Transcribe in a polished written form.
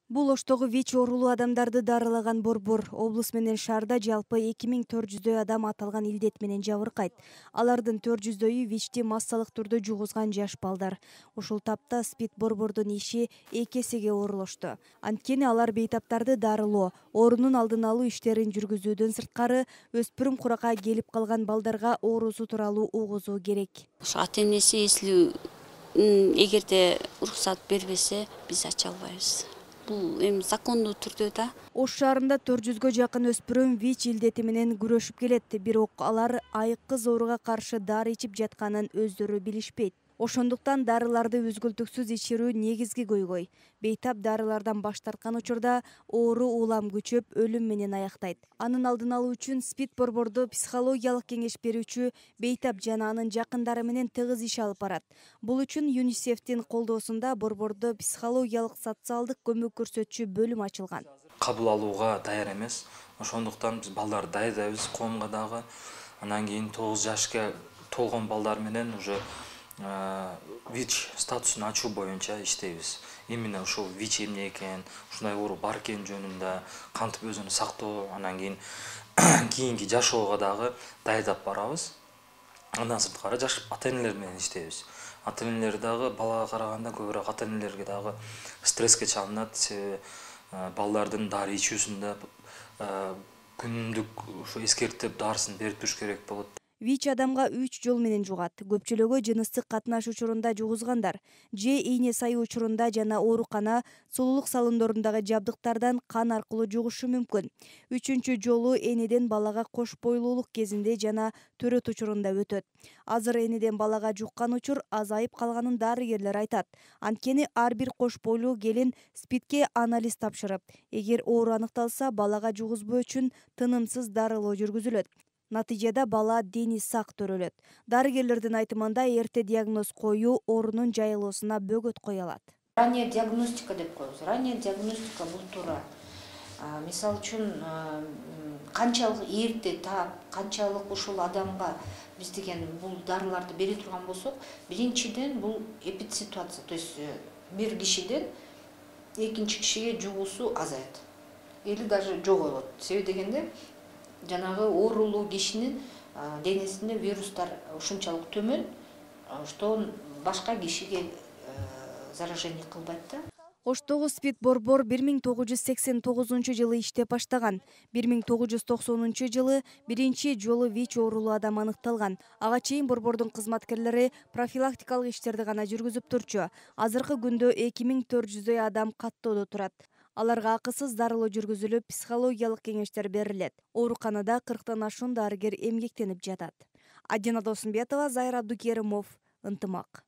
Бул Оштогу ВИЧ оорулуу адамдарды дарылаган борбор. Облус менен шаарда жалпы 2400 адам аталган илдет менен жабыркайт. Алардын 400-дөйү ВИЧти массалык түрдө жугузган жаш балдар. Ушул тапта СПИД борбордун иши 2 эсеге оролошту. Анткени алар бейтаптарды дарылоо, оорунун алдын алуу иштерин жүргүзүүдөн сырткары өспүрүм куракка келип калган балдарга оорусу тууралуу угузуу керек. Ата-энеси эслүү эгерде уруксат бербесе, биз ача албайбыз. Бул эми закондуу түрдө да. Ош шаарында 400гө жакын өспүрүм ВИЧ илдети менен күрөшүп келет, бирок алар айыккыз ооруга каршы дары ичип жатканын өздөрү билишпейт. Ошондуктан дарыларды үзгүлтүксүз ичирүү негизги көйгөй. Бейтап дарылардан баш тарткан учурда оору улам күчөп, өлүм менен аяктайт. Анын алдын алуу үчүн СПИД борбордо психологиялык кеңеш берүүчү бейтап жана анын жакындары менен тыгыз иш алып барат. Бул үчүн ЮНИСЕФтин колдоосунда борбордо психологиялык социалдык көмөк көрсөтчү бөлүм ачылган. Кабыл алууга даяр эмес. Ошондуктан биз балдарды даярдайбыз коомго дагы. Анан кийин 9 жашка толгон балдар менен уже ВИЧ статусун ачуу боюнча иштейбиз. Именно ушул ВИЧ эмне экен, ушундай оору бар экен жөнүндө кантип өзүн сактоо, анан кийин кийинки жашоого дагы даярдап барабыз. Андан сырткары жаш ата-энелер менен иштейбиз. Ата-энелер дагы балага караганда көбүрөөк ата-энелерге дагы стресске чалынат, себеби балдардын дары ичүүсүндө күнүмдүк ушу эскертип дарысын берип туруш керек болот. ВИЧ адамга 3 жол менен жугат. Көпчүлүгү жыныстык катнаш учурунда жугузгандар, же ийне сайуу учурунда жана оорукана, сулуулук салондорундагы жабдыктардан кан аркылуу жугушу мүмкүн. Үчүнчү жолу энеден балага кош бойлуулук кезинде жана төрөт учурунда өтөт. Азыр энеден балага жуккан учур азайып калганын дарыгерлер айтат. Анткени ар бир кош бойлуу келин СПИДке анализ тапшырып, эгер оору аныкталса, балага жугузбоо үчүн тынымсыз дарылоо жүргүзүлөт. Натыйжада бала дени сак төрөлөт. Дарыгерлердин айтымында эрте диагноз коюу оорунун жайылуусуна бөгөт кое алат. Ранняя диагностика деп коебуз. Ранняя диагностика бул туура. Мисалы үчүн канчалык эрте таап, канчалык ушул адамга биз деген бул дарыларды бере турган болсок, биринчиден бул эпидситуация, то есть бир кишиден экинчи кишиге жугуусу азаят. Или даже жоголот. Себеби дегенде жанагы оорулуу кишинин денесинде вирустар ушунчалык төмөн, что башка кишиге заражение кылбайт да. Оштогу СПИД борбор 1989 иштеп баштаган. 1990 биринчи жолу ВИЧ оорулуу адам аныкталган. Ага чейин борбордун кызматкерлери профилактикалык иштерди гана жүргүзүп турчу. Азыркы күндө 2400 адам каттоодо турат. Аларга акысыз дарылоо жүргүзүлүп, психологиялык кеңештер берилет. Ооруканада 40тан ашуун дарыгер эмгектенип жатат. Адина Досумбетова, Зайыр Абдукеримов, Ынтымак.